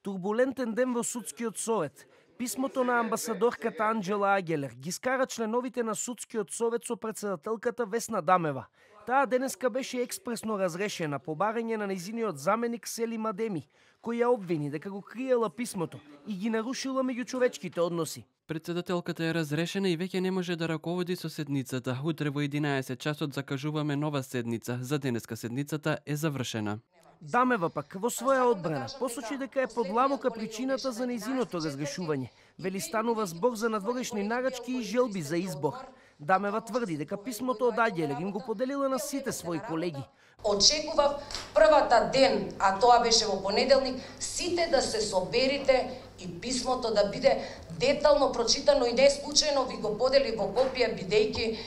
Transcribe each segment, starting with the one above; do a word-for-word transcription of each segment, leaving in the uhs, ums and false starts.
Турбулентен ден во судскиот совет. Писмото на амбасадорката Анџела Агелер ги скара членовите на судскиот совет со претседателката Весна Дамева. Таа денеска беше експресно разрешена по барање на нејзиниот заменик Селим Адеми, кој ја обвини дека го криела писмото и ги нарушила меѓучовечките односи. Претседателката е разрешена и веќе не може да раководи со седницата. Утре во единаесет часот закажуваме нова седница. За денеска седницата е завршена. Дамева пак во своја одбрана посочи дека е подлабока причината за нејзиното разрешување. Вели станува збор за надворешни нарачки и желби за избор. Дамева тврди дека писмото од Агелер им го поделила на сите своји колеги. Очекував првата ден, а тоа беше во понеделник, сите да се соберите и писмото да биде детално прочитано и не случајно ви го подели во копија, бидејќи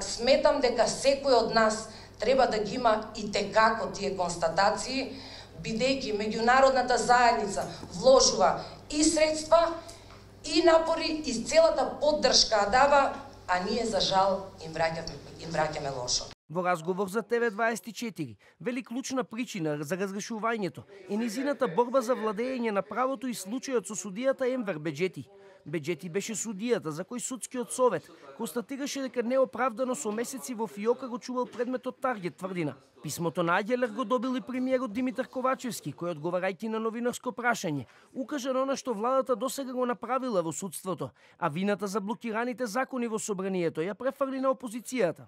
сметам дека секој од нас треба да ги има и текако тие констатации, бидејќи меѓународната заедница вложува и средства, и напори, и целата поддршка дава, а ние за жал им враќаме, им враќаме лошо. Во разговор за Т В дваесет и четири, вели клучна причина за разрешувањето е низината борба за владење на правото и случајот со судијата Енвер Беџети. Беџети беше судијата за кој судскиот совет констатираше дека неоправдано со месеци во фиока го чувал предметот Таргет тврдина. Писмото на Агелер го добил и премиерот Димитар Ковачевски, кој одговарајќи на новинарско прашање, укажа на она што владата досега го направила во судството, а вината за блокираните закони во собранието ја префрли на опозицијата.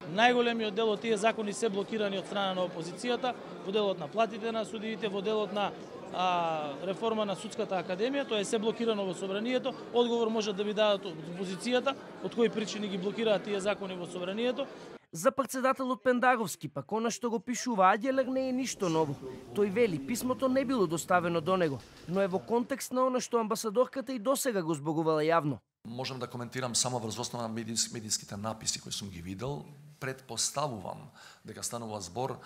Најголемиот дел од тие закони се блокирани од страна на опозицијата, во делот на платите на судиите, во делот на а, реформа на судската академија, тоа е се блокирано во собранието. Одговор може да ви дадат од опозицијата, од кои причини ги блокираат тие закони во собранието. За претседателот Пендаровски пак она што го пишува Агелер не е ништо ново. Тој вели писмото не било доставено до него, но е во контекст на она што амбасадорката и досега го зборувала јавно. Можам да коментирам само врз основа на медијските написи кои сум ги видел. Предпоставувам дека станува збор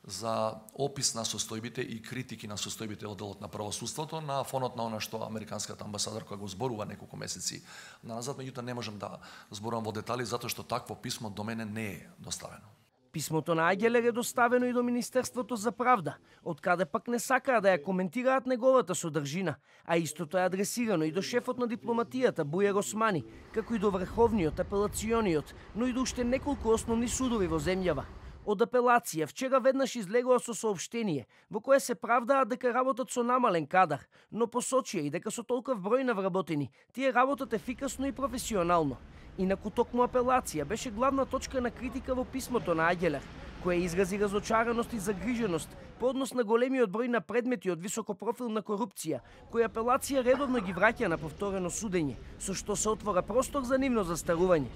за опис на состојбите и критики на состојбите од делот на правосудството на фонот на она што американската амбасадорка го зборува неколку месеци назад, меѓутоа не можам да зборувам во детали затоа што такво писмо до мене не е доставено. Писмото на Агелер е доставено и до Министерството за правда, од каде пак не сакаа да ја коментираат неговата содржина, а истото е адресирано и до шефот на дипломатијата Бујар Османи, како и до Врховниот, Апелациониот, но и до уште неколку основни судови во земјава. Од апелација вчера веднаш излегува со соопштение во кое се правдаат дека работат со намален кадар, но посочија и дека со толков број на вработени тие работат ефикасно и професионално. Инаку токму апелација беше главна точка на критика во писмото на Агелер, која изрази разочараност и загриженост по однос на големиот број на предмети од високопрофилна корупција, кои апелација редовно ги враќа на повторено судење, со што се отвора простор за нивно застарување.